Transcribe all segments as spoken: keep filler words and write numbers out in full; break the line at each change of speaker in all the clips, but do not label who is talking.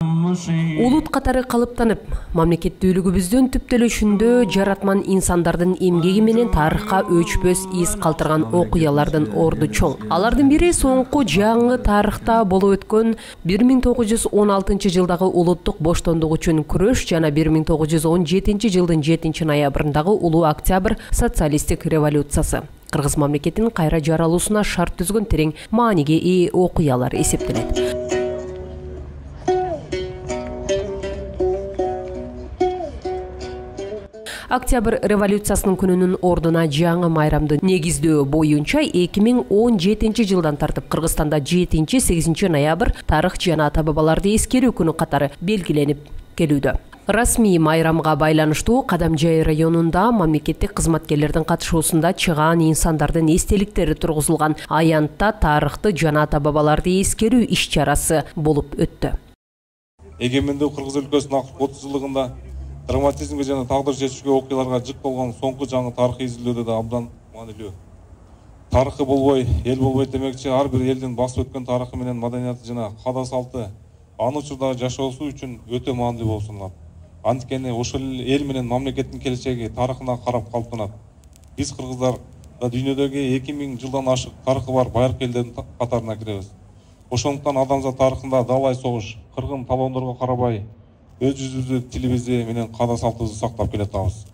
Улут катары калыптанып, мамлекеттүүлүгүбүздүн түптөлүшүндө жаратман инсандардын эмгеги менен тарыхка өчпөс из калтырган окуялардын орду чоң. Алардын бири соңку жаңы тарыхта болуп өткөн бир миң тогуз жүз он алтынчы жылдагы улуттук боштондук үчүн күрөш жана бир миң тогуз жүз он жетинчи жылдын жетинчи ноябрындагы улуу октябрь социалисттик революциясы. Кыргыз мамлекетинин кайра жаралуусуна шарт түзгөн терең мааниге ээ окуялар эсептелет. Октябрь революциясынын күнүнүн ордуна жаңы майрамды негиздөө боюнча эки миң он жетинчи жылдан тартып Кыргызстанда жетинчи сегизинчи ноябрь тарых жана ата бабаларды эскерүү күнү катары белгиленип келүүдө. Расмий майрамга байланыштуу Кадамжай районунда мамлекеттик кызматкерлердин катышуусунда чыгаан инсандардын эстеликтери тургузулган аянтта тарыхты жана ата бабаларды эскерүү иш-чарасы болуп өттү.
Эгемендүү Кыргыз өлкөсүнүн отуз жылдыгында драматизмге жана тагдыр чечүүчү окуяларга жык болгон соңку жаңы тарыхый изилдөөдө да абдан маанилүү. Тарыхы болбой, эл болбойт демекчи, ар бир элдин басып өткөн тарыхы менен маданияты жана каада салты аны учурдагы жашоосу үчүн өтө маанилүү болуп саналат. Анткени ошол эл менен мамлекеттин келечеги тарыхына карап калыптанат. Биз кыргыздар да дүйнөдөгү эки миң жылдан ашык тарыхы бар байыркы элдердин катарына киребиз. Ошондуктан адамзат тарыхында далай согуш, кыргын талоондорго карабай өз жүзүбүздү, тилибизди менен каада салтыбызды сактап келатабыз.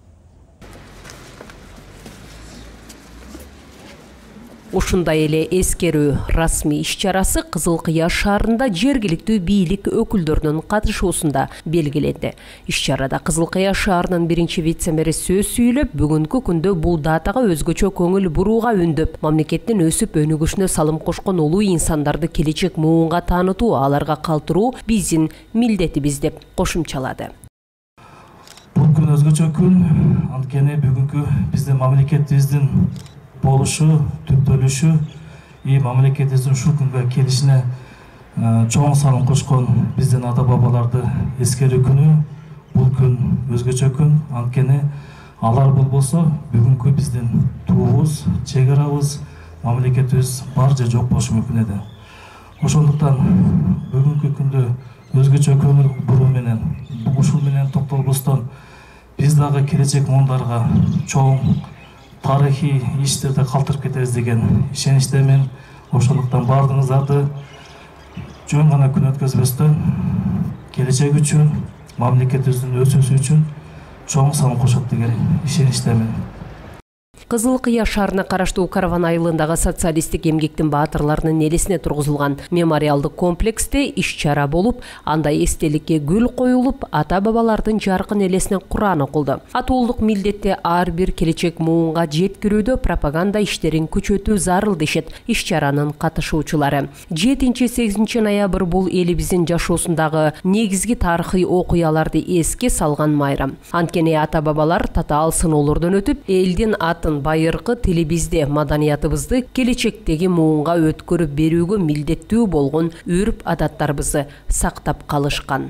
Ушундай эле эскерүү расмий иш-чарасы Кызыл Кыяш шаарында жергиликтүү бийлик өкүлдөрүнүн катышуусунда белгиленди. Иш-чарада Кызыл Кыяш шаарынын биринчи вице-мэри сөз сүйлөп, бүгүнкү күндө бул датага өзгөчө көңүл бурууга үндөп, мамлекеттин өсүп өнүгүшүнө салым кошкон улуу инсандарды келечек муунга таанытуу, аларга калтыруу биздин милдетибиз деп кошумчалады.
Бул күн өзгөчө күн, анткени бүгүнкү биздин мамлекетибиздин болушу, түптөлүшү и мамлекетибиздин ушул күнгө келишине чоң салым кошкон биздин ата бабаларды эскерүү күнү. Бул күн өзгөчө күн, анткени алар болбосо бүгүнкү биздин туубуз, чек арабыз, мамлекетибиз бар же жок болушу мүмкүн эди. Ошондуктан бүгүнкү күндө өзгөчө көңүл буруу менен, ушул менен токтолбостон биз дагы келечек муундарга чоң тарыхый иштерди калтырып кетебиз деген ишеничтемин. Ошондуктан баардыгыңыздарды жөн гана күн өткөзбөстөн келечек үчүн, мамлекетибиздин өсүүсү үчүн чоң салым кошот деген ишеничтемин.
Кызыл Кыяш шаарына караштуу Караван айылындагы социалисттик эмгектин баатырларынын элесине тургузулган мемориалдык комплексте иш-чара болуп, анда эстеликке гүл коюлуп, ата бабалардын жаркын элесине Куран окулду. Атуулук милдетти ар бир келечек муунга жеткирүүдө пропаганда иштерин күчөтүү зарыл дешет иш-чаранын катышуучулары. жетинчи сегизинчи ноябрь бул элибиздин жашоосундагы негизги тарыхый окуяларды эске салган майрам. Анткени ата бабалар татаал сыноолордон өтүп, элдин атын байыркы тилибизде, маданиятыбызды келечектеги муунга өткөрүп берүүгө милдеттүү болгон үрп адаттарыбызды сактап калышкан.